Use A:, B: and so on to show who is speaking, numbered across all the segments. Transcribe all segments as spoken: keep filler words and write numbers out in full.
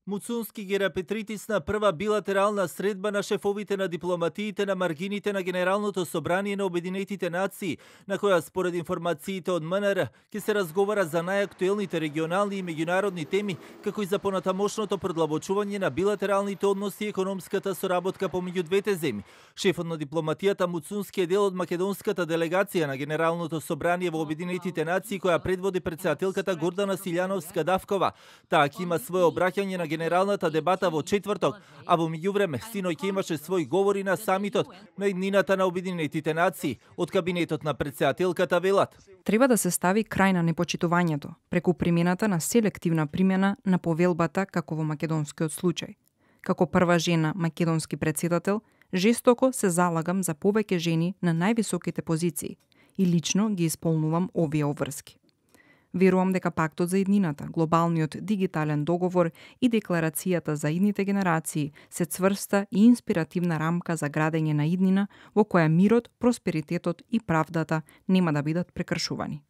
A: Муцунски ги репетритисна прва билатерална средба на шефовите на дипломатиите на маргините на Генералното собрание на Обединетите нации, на која според информациите од МНР ќе се разговара за најактуелните регионални и меѓународни теми, како и за понатамошното продлабочување на билатералните односи и економската соработка помеѓу двете земји. Шефот на дипломатијата Муцунски е дел од македонската делегација на Генералното собрание во Обединетите нации, која предводи претседателката Гордана Силјановска-Давкова. Таа ќе има свое обраќање на генералната дебата во четврток, а во меѓувреме синоќ имаше свој говори на самитот на иднината на Обединетите нации. Од кабинетот на претседателката велат:
B: треба да се стави крај на непочитувањето преку примената на селективна примена на повелбата како во македонскиот случај. Како прва жена македонски претседател, жестоко се залагам за повеќе жени на највисоките позиции и лично ги исполнувам овие обврски. Верувам дека пактот за иднината, глобалниот дигитален договор и декларацијата за идните генерации се цврста и инспиративна рамка за градење на иднина во која мирот, просперитетот и правдата нема да бидат прекршувани.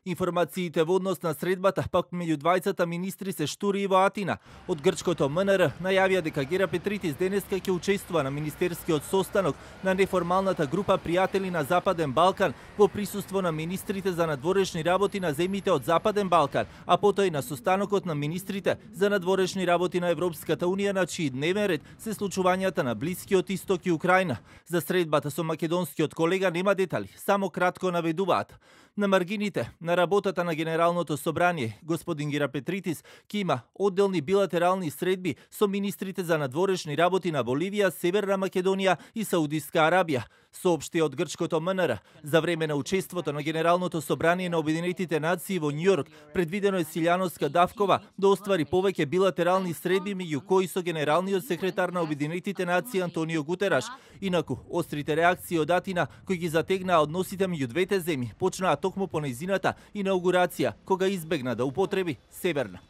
A: Информациите во однос на средбата пак меѓу двајцата министри се штури и во Атина. Од грчкото МНР најавија дека Гера Петритис денеска ќе учествува на министерскиот состанок на неформалната група пријатели на Западен Балкан во присуство на министрите за надворешни работи на земјите од Западен Балкан, а потоа и на состанокот на министрите за надворешни работи на Европската унија, на чиј дневен ред се случувањата на Блискиот Исток и Украина. За средбата со македонскиот колега нема детали, само кратко наведуваат. На маргините на работата на Генералното собрание, господин Гера Петритис ќе има одделни билатерални средби со министрите за надворешни работи на Боливија, Северна Македонија и Саудиска Арабија. Соопшти од грчкото МНР, за време на учеството на Генералното собрание на Обединетите нации во Њујорк, предвидено е Силјановска-Давкова да оствари повеќе билатерални средби, меѓу кои со генералниот секретар на Обединетите нации Антонио Гутераш. Инаку, острите реакции од Атина, кои ги затегнаа односите меѓу двете земји, почнаа токму по нејзината инаугурација, кога избегна да употреби Северна.